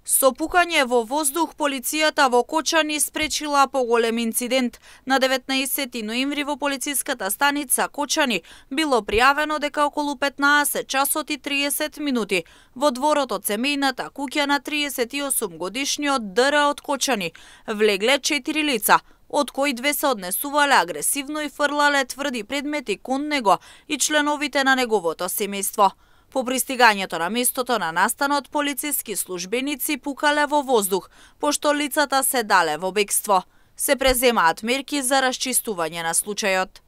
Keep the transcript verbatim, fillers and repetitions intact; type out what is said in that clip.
Со пукање во воздух, полицијата во Кочани спречила поголем инцидент. На деветнаесети ноември во полициската станица Кочани било пријавено дека околу петнаесет часот и триесет минути во дворот од семејната куќа на триесет и осум годишниот Д Р од Кочани влегле четири лица, од кои две се однесувале агресивно и фрлале тврди предмети кон него и членовите на неговото семејство. По пристигањето на местото на настанот, полициски службеници пукале во воздух, пошто лицата се дале во бегство. Се преземаат мерки за расчистување на случајот.